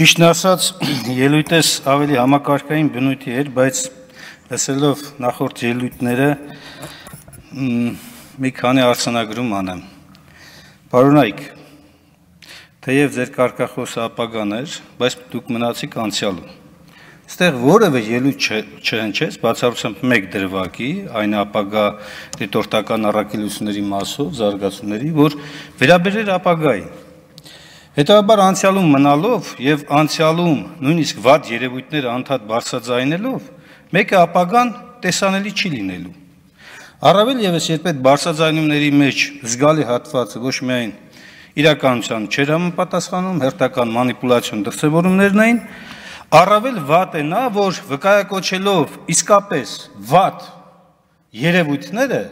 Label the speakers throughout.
Speaker 1: Ճիշտն ասած, ելույթս ավելի համակարգային բնույթի էր, բայց լսելով նախորդ ելույթները մի քանի արձանագրում անեմ։ Պարոնայք, թեև ձեր կարգախոսը ապագան էր, բայց դուք մնացիք անցյալում։ Այստեղ որևէ ելույթ չհնչեց, բացառությամբ մեկ դրվագի, այն ապագա դիտորդական առաքելությունների մասով, զարգացումների, որ վերաբերեր ապագային։ Հետաբար անցյալում մնալով եւ անցյալում նույնիսկ վատ երևույթները անդադ բարձրաձայնելով, մեկը ապագան տեսանելի չի լինելու։ Առավել եւս երբ այդ բարձրաձայնումների մեջ զգալի հատվածը ոչ միայն իրականության չէր համապատասխանում, հերթական մանիպուլյացիոն դրսևորումներն էին, առավել վատ է նա, որ վկայակոչելով իսկապես վատ երևույթները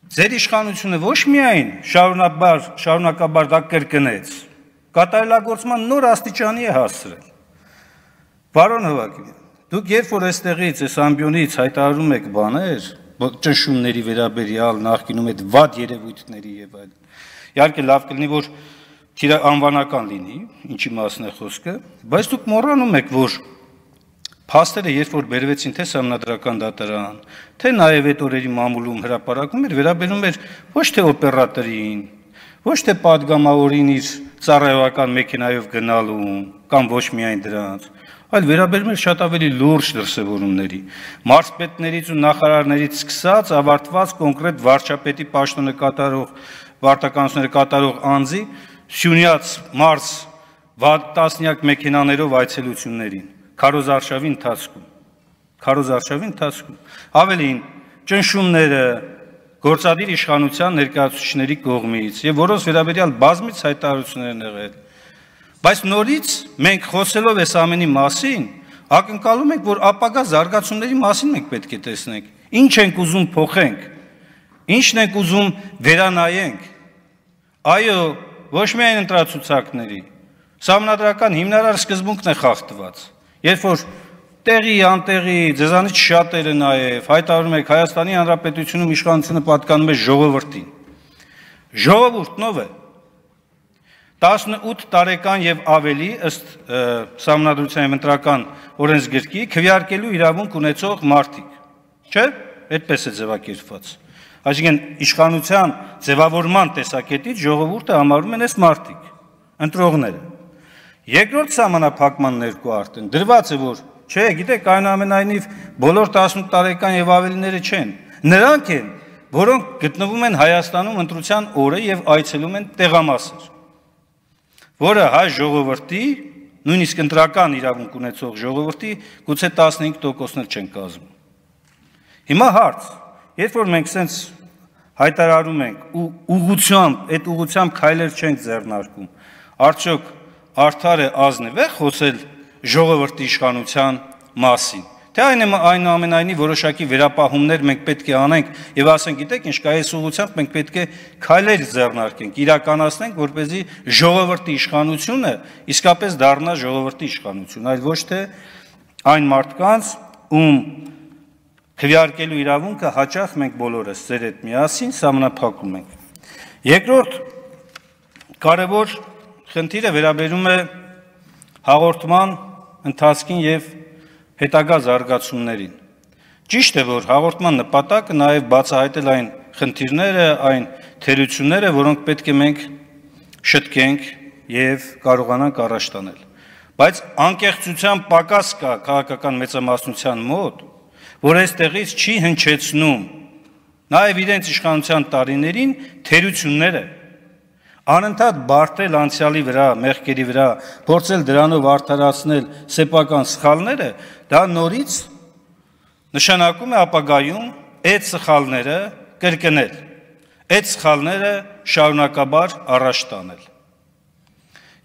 Speaker 1: ձեր իշխանությունը ոչ միայն շարունակաբար դա կրկնեց, կատարելագործման նոր աստիճանի է հասցրել։ Պարոն Հովհաննիսյան, դուք երբ որ այստեղից այս ամբիոնից հայտարարում եք բաներ, ճնշումների վերաբերյալ, նախկինում այդ վատ երևույթների եւ այլն, իհարկե լավ կլինի, որ անվանական լինի, ինչի մասն է խոսքը, բայց դուք մոռանում եք, որ փաստերը երբ որ բերվեցին թե սահմանադրական դատարան, թե նաև այդ օրերի մամուլում հրապարակում էր, վերաբերում էր ոչ թե օպերատորին, ոչ թե падգամավորին իր ծառայողական մեքենայով գնալուն, կամ ոչ միայն դրանց, այլ վերաբերում էր շատ ավելի լուրջ դրսևորումների, մարզպետներից ու նախարարներից սկսած ավարտված կոնկրետ վարչապետի պաշտոնը կատարող, վարչականությունները կատարող անձի Սյունյաց մարզ տասնյակ մեքենաներով այցելություններին, քարոզարշավի ընթացքում, ավելին ճնշումները գործադիր իշխանության ներկայացուցիչների կողմից եւ որոնց վերաբերյալ բազմից հայտարարություններ են եղել, բայց նորից մենք խոսելով այս ամենի մասին, ակնկալում ենք, որ ապագա զարգացումների մասին մենք պետք է տեսնենք, ինչ ենք ուզում փոխենք, ինչն ենք ուզում վերանայենք, այո, ոչ միայն ընտրացուցակների, սահմանադրական հիմնարար սկզբունքն է խախտված, երբ որ տեղի, անտեղի, ձեզանից շատերը նաև հայտարարում եք Հայաստանի Հանրապետությունում իշխանությունը պատկանում է ժողովրդին։ Ժողովուրդն ով է։ 18 տարեկան եւ ավելի ըստ Սահմանադրության եւ Ընտրական օրենսգրքի քվեարկելու իրավունք ունեցող մարդիկ, չէ՞, այդպես է ձևակերպված։ Այսինքն իշխանության ձևավորման տեսակետից ժողովուրդը համարում են այս մարդիկ, ընտրողները։ Երկրորդ սահմանափակման ներքո արդեն դրված է, որ չէ, գիտեք, այնուամենայնիվ բոլոր 18 տարեկան եւ ավելիները չեն։ Նրանք են, որոնք գտնվում են Հայաստանում ընտրության օրը եւ այցելում են տեղամասեր, որը հայ ժողովրդի, նույնիսկ ընտրական իրավունք ունեցող ժողովրդի գուցե 15%-ներ չեն կազմում։ Հիմա հարց, երբ որ մենք սենց հայտարարում ենք ու այդ ուղղությամբ քայլեր չենք ձեռնարկում, արդյոք արդար է ազնիվ է խոսել ժողովրդի իշխանության մասին, թե այնուամենայնիվ որոշակի վերապահումներ մենք պետք է անենք եւ ասենք, գիտեք ինչ կա, այս ուղղությամբ մենք պետք է քայլեր ձեռնարկենք, իրականացնենք, որպեսզի ժողովրդի իշխանությունը իսկապես դառնա ժողովրդի իշխանություն, այլ ոչ թե այն մարդկանց, ում քվեարկելու իրավունքը հաճախ մենք բոլորս ձեր հետ միասին սահմանափակում ենք։ Երկրորդ կարևոր խնդիրը վերաբերում է հաղորդման ընթացքին եւ հետագա զարգացումներին։ Ճիշտ է, որ հաղորդման նպատակը նաեւ բացահայտել այն խնդիրները, այն թերությունները, որոնք պետք է մենք շտկենք եւ կարողանանք առաջ տանել։ Բայց անկեղծության պակաս կա քաղաքական մեծամասնության մոտ, որ այստեղից չի հնչեցնում նաեւ իրենց իշխանության տարիներին թերությունները, անընդհատ բարդել անցյալի վրա, մեղքերի վրա, փորձել դրանով արդարացնել սեփական սխալները, դա նորից նշանակում է ապագայում այդ սխալները կրկնել, այդ սխալները շարունակաբար առաջ տանել։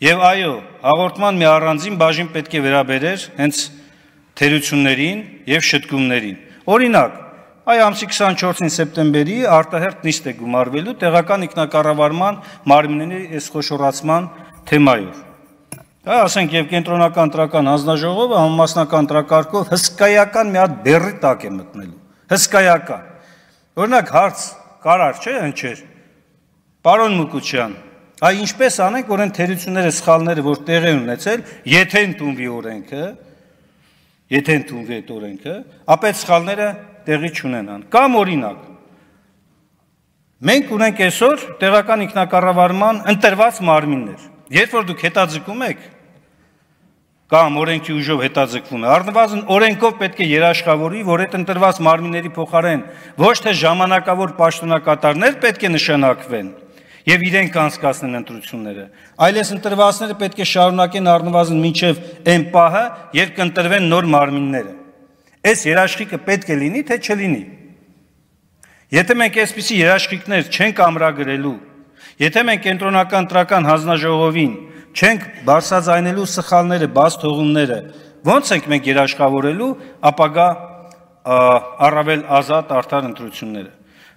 Speaker 1: Եվ այո, հաղորդման մի առանձին բաժին պետք է վերաբերեր հենց թերություններին եւ շտկումներին։ Օրինակ, այ ամսի 24-ին սեպտեմբերի արտահերթ նիստ է գումարվելու տեղական ինքնակառավարման մարմինների այս խոշորացման թեմայով։ Դա ասենք եւ կենտրոնական ընտրական հանձնաժողովը համամասնական ընտրակարգով հսկայական մի հատ բեռի տակ է մտնելու։ Հսկայական։ Օրինակ հարց կարար չէ հնչեր։ Պարոն Մուկուչյան, Այ ինչպես անենք, որ այն թերությունները, սխալները, որ տեղի են ունեցել, եթե ընդունվի այդ օրենքը, ապա այդ սխալները տեղի չունենան։ Կամ օրինակ, մենք ունենք այսօր տեղական ինքնակառավարման ընտրված մարմիններ։ Երբ որ դուք հետաձգում եք, կամ օրենքի ուժով հետաձգվում է, առնվազն օրենքով պետք է երաշխավորի, որ այդ ընտրված մարմինների փոխարեն ոչ թե ժամանակավոր պաշտոնակատարներ պետք է նշանակվեն եւ իրենք անցկացնեն ընտրությունները, այլ այս ընտրվածները պետք է շարունակեն առնվազն մինչեւ այն պահը, երբ կընտրվեն նոր մարմինները։ Այս երաշխիքը պետք է լինի, թե չլինի։ Եթե մենք այսպիսի երաշխիքներ չենք ամրագրելու, եթե մենք կենտրոնական ընտրական հանձնաժողովին չենք բարձրաձայնելու սխալները, բաց թողումները, ո՞նց ենք մենք երաշխավորելու ապագա առավել ազատ արդար ընտրությունները։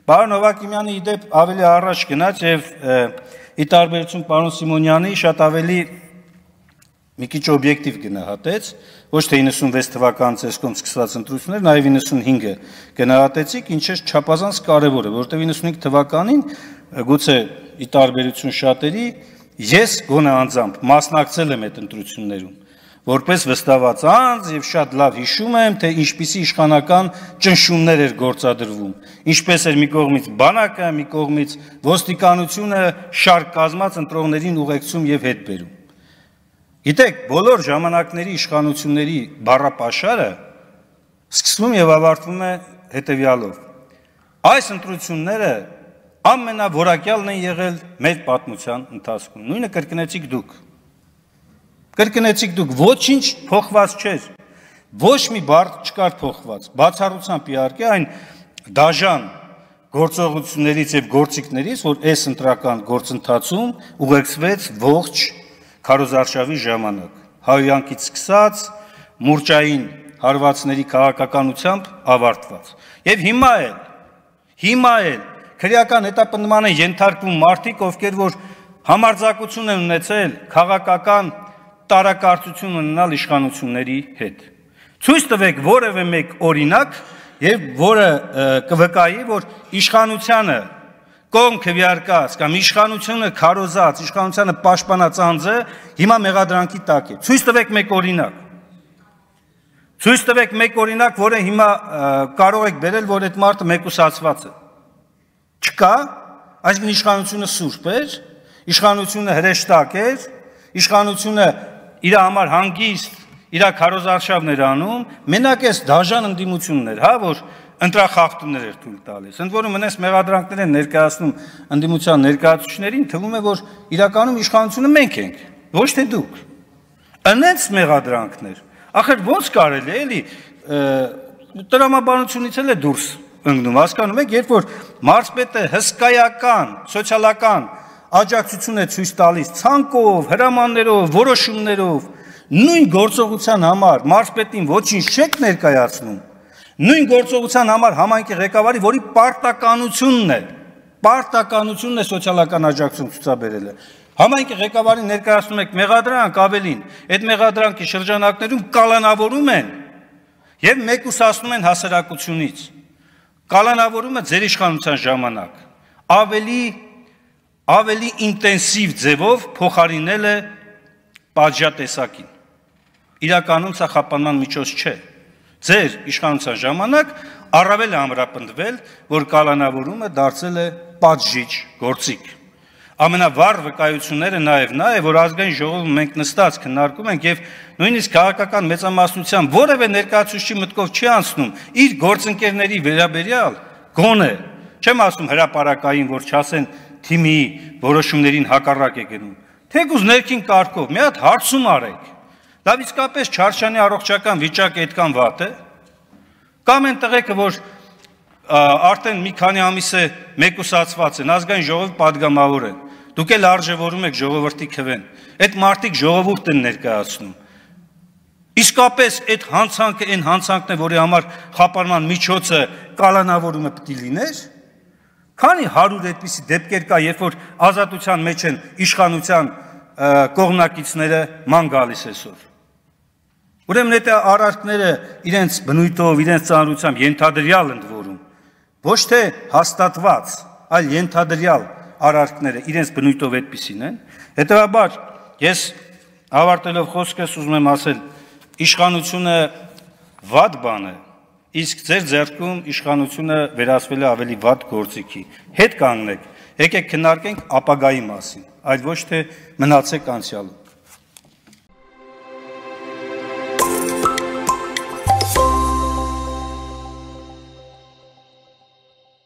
Speaker 1: Պարոն Հովհաննիսյանը իդեպ ավելի առաջ գնաց եւ ի տարբերություն պարոն Սիմոնյանի շատ ավելի մի քիչ օբյեկտիվ գնահատեց, ոչ թե 96 թվականից այսքան սկսված ընտրություններ, նաեւ 95-ը գնահատեցիք, ինչը չափազանց կարեւոր է, որովհետեւ 95 թվականին գուցե ի տարբերություն շատերի ես գոնե անձամբ մասնակցել եմ այդ ընտրություններում, որպես վստահված անձ եւ շատ լավ հիշում եմ, թե ինչպիսի իշխանական ճնշումներ էր գործադրվում, ինչպես էր մի կողմից բանակը, մի կողմից ոստիկանությունը շարք կազմած ընտրողներին ուղեկցում եւ հետ բերում։ Գիտեք, բոլոր ժամանակների իշխանությունների բառապաշարը սկսվում եւ ավարտվում է հետեւյալով. այս ընտրությունները ամենավորակյալն են եղել մեր պատմության ընթացքում։ Նույնը կրկնեցիք դուք։ Կրկնեցիք դուք, ոչինչ փոխված չէր, ոչ մի բառ չկար փոխված, բացառությամբ իհարկե այն դաժան գործողություններից եւ գործիքներից, որ այս ընտրական գործընթացում ուղեկցվեց ողջ քարոզարշավի ժամանակ, հայոյանքից սկսած մուրճային հարվածների քաղաքականությամբ ավարտված։ Եվ հիմա էլ քրեական հետապնդման են ենթարկվում մարդիկ, ովքեր որ համարձակություն են ունեցել քաղաքական տարակարծություն ունենալ իշխանությունների հետ։ Ցույց տվեք որևէ մեկ օրինակ, եւ որը կվկայի, որ իշխանությանը կողմ քվեարկած կամ իշխանությունը քարոզած, իշխանությանը պաշտպանած անձը հիմա մեղադրանքի տակ է։ Ցույց տվեք մեկ օրինակ։ Ցույց տվեք մեկ օրինակ, որը հիմա կարող եք բերել, որ այդ մարդը մեկուսացված է։ Չկա, այսինքն իշխանությունը սուրբ էր, իշխանությունը հրեշտակ էր, իշխանությունը իր համար հանգիստ, իր քարոզարշավն էր անում, մենակ այս դաժան ընդդիմությունն էր, հա, որ ընտրախախտումներ էր թույլ տալիս։ Ընդ որում մնաց մեղադրանքներ են ներկայացնում ընդդիմության ներկայացուցիչներին, թվում է, որ իրականում իշխանությունը մենք ենք, ոչ թե դուք։ Անենց մեղադրանքներ։ Ախր ո՞նց կարելի է, էլի, տրամաբանությունից էլ է դուրս ընկնում, հասկանում եք, երբ որ մարզպետը հսկայական, սոցիալական աջակցություն է ցույց տալիս ցանկով, հրամաններով, որոշումներով, նույն գործողության համար մարզպետին ոչինչ չեք ներկայացնում, նույն գործողության համար համայնքի ղեկավարի, որի պարտականությունն է սոցիալական աջակցություն ցուցաբերելը, համայնքի ղեկավարին ներկայացնում եք մեղադրանք ավելին, այդ մեղադրանքի շրջանակներում կալանավորում են եւ մեկուսացնում են հասարակությունից, կալանավորումը ձեր իշխանության ժամանակ ավելի ինտենսիվ ձևով փոխարինել է պատժատեսակին։ Իրականում սա խափանման միջոց չէ։ Ձեր իշխանության ժամանակ առավել է ամրապնդվել, որ կալանավորումը դարձել է պատժիչ գործիք։ Ամենավառ վկայությունները նաեւ նա է, որ ազգային ժողովում մենք նստած քննարկում ենք եւ նույնիսկ քաղաքական մեծամասնության որևէ ներկայացուցիչի մտքով չի անցնում իր գործընկերների վերաբերյալ գոնե, չեմ ասում հրապարակային, որ չասեն թիմի որոշումներին հակառակ է գնում, թեկուզ ներքին կարգով մի հատ հարցում արեք, լավ իսկապես Չարչյանի առողջական վիճակը այդքան վատ է, կամ այն տղեկը, որ արդեն մի քանի ամիս է մեկուսացված են, ազգային ժողովի պատգամավոր են, դուք էլ արժևորում եք ժողովրդի քվեն, այդ մարդիկ ժողովուրդ են ներկայացնում, իսկապես այդ հանցանքը այն հանցանքն է, որի համար խափանման միջոցը կալանավորումը պետք է լիներ, քանի 100 այդպիսի դեպքեր կա, երբ որ ազատության մեջ են իշխանության կողմնակիցները ման գալիս այսօր։ Ուրեմն այդ արարքները իրենց բնույթով, իրենց ծանրությամբ ենթադրյալ ընդ որում, ոչ թե հաստատված, այլ ենթադրյալ արարքները իրենց բնույթով այդպիսին են։ Հետևաբար ես ավարտելով խոսքս ուզում եմ ասել, իշխանությունը վատ բան է, իսկ ձեր ձեռքում իշխանությունը վերածվել է ավելի վատ գործիքի։ Հետ կանգնեք, եկեք քննարկենք ապագայի մասին, այլ ոչ թե մնացեք անցյալում։